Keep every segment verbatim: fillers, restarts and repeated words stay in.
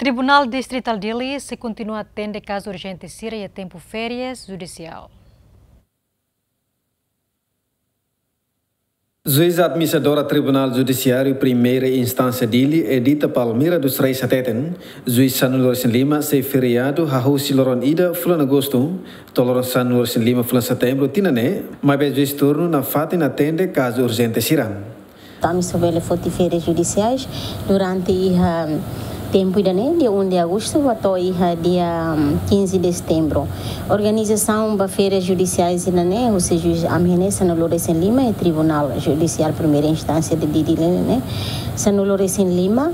Tribunál Distritál Dili sei kontinua atende kazu urjente sira iha tempu férias judisiál. Juíza administradora Tribunál Judisiáriu Primeira Instánsia Dili, Edita Palmira dos Reis hateten, juís sanulu-resin-lima sei feriadu hahú husi loron ida fulan Agostu to'o loron sanulu-resin-lima fulan Setembru tinan ne'e, maibé juís turnu nafatin atende kazu urjente sira. Ami só bele foti férias judiciais durante iha tempu ida-ne'e, dia um de agosto ba to'o iha dia quinze de setembro. Organizasaun ba férias judiciais ida-ne'e, husi juís ami-nia sanulu-resin-lima, iha Tribunál Judicial Primeira Instánsia de Dili ne'e, sanulu-resin-lima,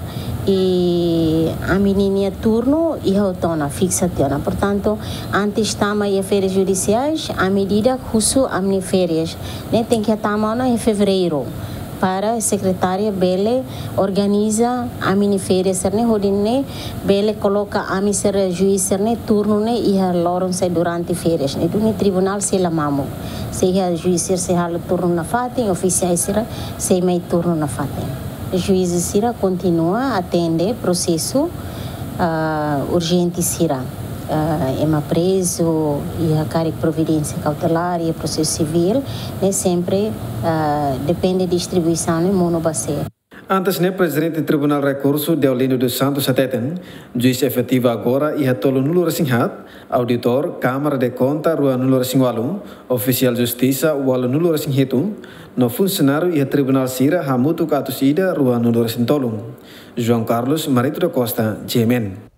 i ami-nia turnu iha tiha ona, fiksa tiha ona. Portantu, antes tama iha férias judiciais, ami ida husu ami-nia férias ne'e tenke tama ona iha fevereiru, para sekretária bele organiza ami-nia férias sira-ne'e, hodi nune'e bele koloka ami sira juís sira-ne'e turnu ne'e iha loron sira durante férias ne'e. Duni tribunál sei la mamuk. Se iha juís sira sei halo turnu nafatin, ofisiais sira sei mai turnu nafatin. Juís sira kontinua atende prosesu, ah, urjente sira. Ah, ema prezu, iha karik providénsia kautelár, iha prosesu sivíl, ne'e sempre, ah, depende distribuisaun ne'e monu ba sé. Antes ne'e, Prezidente Tribunál Rekursu, Deolindo dos Santos, hateten, juís efetivu agora iha tolunulu-resin-haat, auditór, Kámara de Konta, ruanulu-resin-ualu, ofisiál justisa, ualunulu-resin-hitu, no funsionáriu iha tribunál sira hamutuk atus ida ruanulu-resin-tolu. João Carlos Marito da Costa, G M N.